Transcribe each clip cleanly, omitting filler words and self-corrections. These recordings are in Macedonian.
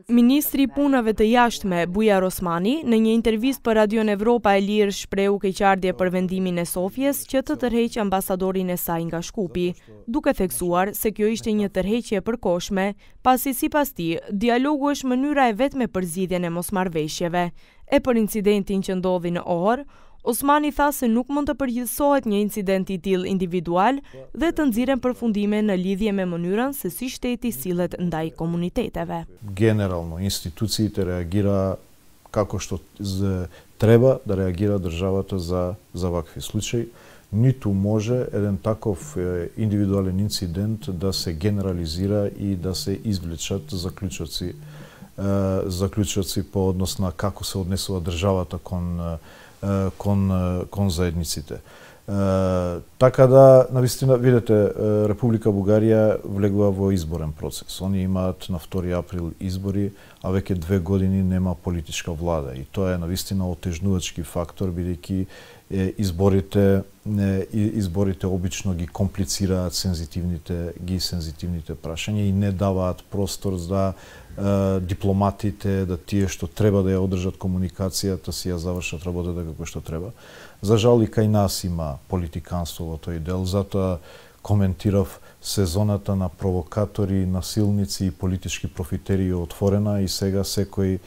Ministri I punëve të jashtme, Bujar Osmani, në një intervistë për Radion Evropa e Lirë shprehu keqardhje për vendimin e Sofjes që të tërheqë ambasadorin e saj nga Shkupi, duke theksuar se kjo ishte një tërheqje e përkohshme, pasi sipas tij, dialogu është mënyra e vetme për zgjidhjen e mosmarrëveshjeve. E për incidentin që ndodhi në Orë, Osmani tha se nuk mund të përgjithësohet një incident I tillë individual dhe të nxirren përfundime në lidhje me mënyrën se si shteti sillet ndaj komuniteteve. Генерално институциите реагира како што треба да реагира државата за вакви случаи. Ниту може еден таков индивидуален инцидент да се генерализира и да се извлечат заклучоци по однос на како се однесува државата кон заедниците. Така да, навистина, видите, Република Бугарија влегува во изборен процес. Они имаат на 2 април избори, а веќе 2 години нема политичка влада. И тоа е навистина отежнувачки фактор, бидејќи изборите обично ги комплицираат сензитивните прашања и не даваат простор за дипломатите, да тие што треба да ја одржат комуникацијата си ја завршат работата како што треба. За жал и кај нас има политиканство во тој дел, затоа коментирав сезоната на провокатори, насилници и политички профитери е отворена и сега секој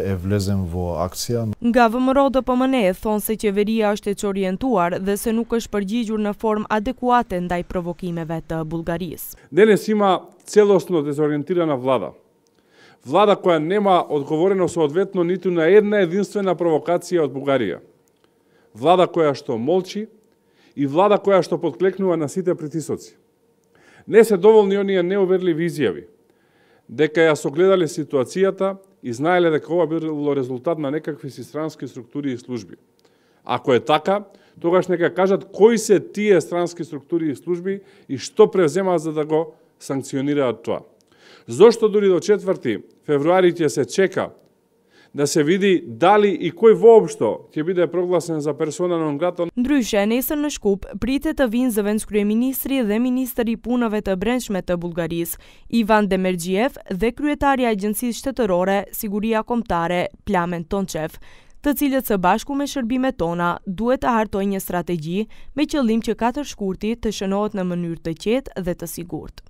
е влезен во акција. Nga VMRO-DPMNE thonë se qeveria është e çorientuar dhe se nuk është përgjigjur në formë adekuate ndaj provokimeve të Bullgarisë. Денес има целосно дезориентирана влада. Влада која нема одговорено соодветно ниту на една единствена провокација од Бугарија. Влада која што молчи и влада која што подклекнува на сите притисоци. Не се доволни оние неуверливи изјави дека ја согледале ситуацијата и знаеле дека ова било резултат на некакви си странски структури и служби. Ако е така, тогаш нека кажат кои се тие странски структури и служби и што превземаат за да го санкционираат тоа. Зошто дури до 4 февруари ќе се чека да се види дали и кој воопшто ќе биде прогласен за персона нон грата. Ndryshe, nesër në Shkup pritet të vinë zëvendëskryeministri dhe ministri I punëve të brendshme të Bullgarisë, Ivan Demirgjiev, dhe kryetari I Agjencisë Shtetërore, Siguria Kombëtare, Plamen Tonçev, të cilët së bashku me shërbimet tona duhet të hartojnë një strategji me qëllim që 4 shkurti të shënohet në mënyrë të qetë dhe të sigurt.